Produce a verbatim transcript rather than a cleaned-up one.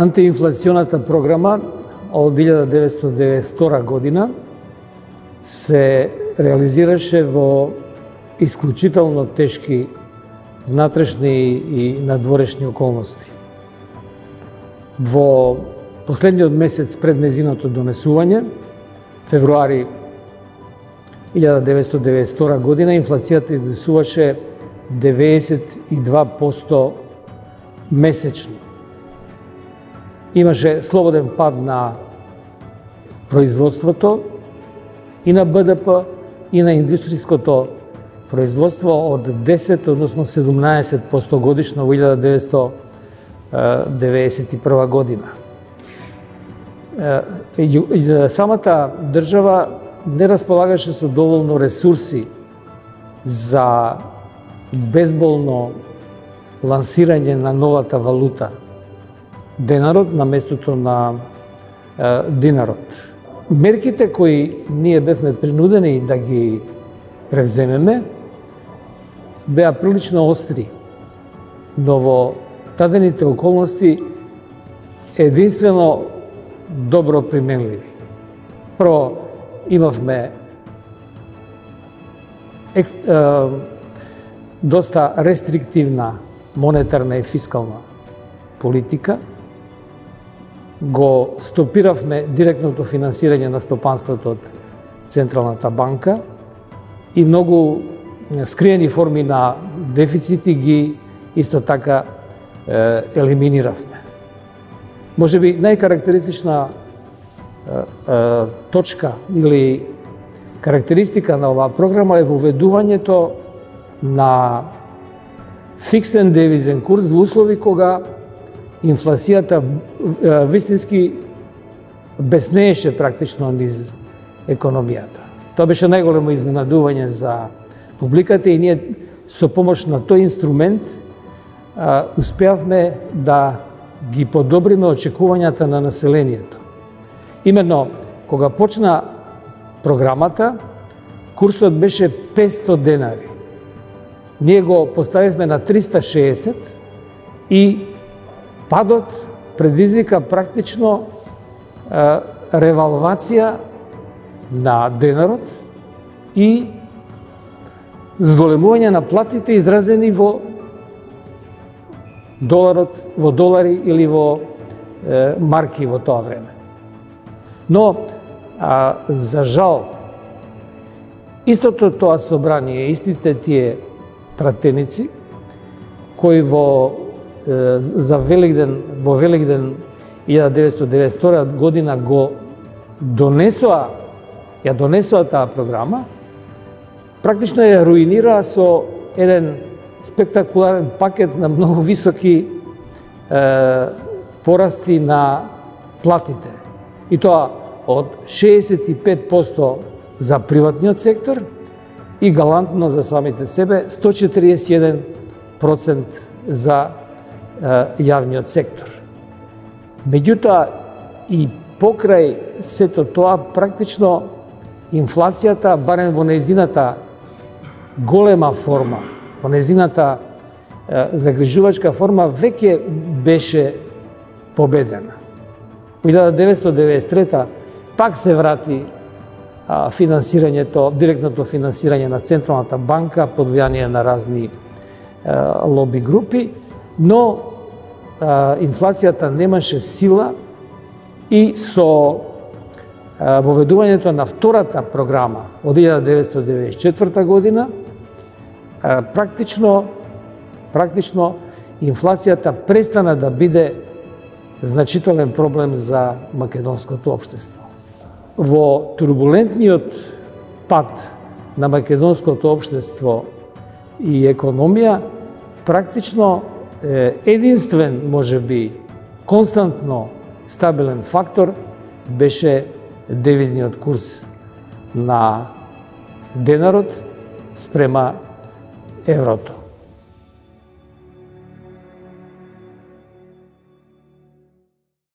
Антиинфлационата програма од илјада деветстотини деветдесет и втора година се реализираше во исклучително тешки внатрешни и надворешни околности. Во последниот месец пред нејзиното донесување, февруари илјада деветстотини деветдесет и втора година, инфлацијата изнесуваше деветдесет и два проценти месечно. Имаше слободен пад на производството и на Б Д П и на индустријското производство од десет, односно седумнаесет проценти годишно во илјада деветстотини деветдесет и прва година. Самата држава не располагаше со доволно ресурси за безболно лансирање на новата валута денарот на местото на е, динарот. Мерките кои ние бевме принудени да ги превземеме беа прилично остри, но во тадените околности единствено добро применливи. Прво, имавме ек, е, доста рестриктивна монетарна и фискална политика, го стопиравме директното финансирање на стопанството од Централната банка и многу скриени форми на дефицити ги исто така е, елиминиравме. Може би најкарактеристична е, е, точка или карактеристика на оваа програма е воведувањето на фиксен девизен курс во услови кога инфлацијата вистински беснееше практично низ економијата. Тоа беше најголемо изненадување за публиката и ние со помош на тој инструмент а, успеавме да ги подобриме очекувањата на населението. Именно кога почна програмата, курсот беше петсто денари. Ние го поставивме на триста шеесет и падот предизвика практично е, ревалвација на денарот и зголемување на платите изразени во доларот, во долари или во е, марки во тоа време. Но, а, за жал, истото тоа собрание, истите тие пратеници, кои во за Великден, во Великден илјада деветстотини деветдесет и втора година го донесоа, ја донесоа таа програма, практично ја руинираа со еден спектакуларен пакет на многу високи е, порасти на платите. И тоа од шеесет и пет проценти за приватниот сектор и галантно за самите себе сто четиридесет и еден проценти за јавниот сектор. Меѓутоа, и покрај сето тоа, практично инфлацијата, барем во нејзината голема форма, во нејзината загрижувачка форма, веќе беше победена. Во илјада деветстотини деветдесет и трета пак се врати а, финансирањето, директното финансирање на Централната банка под влијание на разни а, лоби групи, но а, инфлацијата немаше сила и со а, воведувањето на втората програма од илјада деветстотини деветдесет и четврта година, а, практично, практично инфлацијата престана да биде значителен проблем за македонското општество. Во турбулентниот пат на македонското општество и економија, практично единствен, може би, константно стабилен фактор беше девизниот курс на денарот спрема еврото.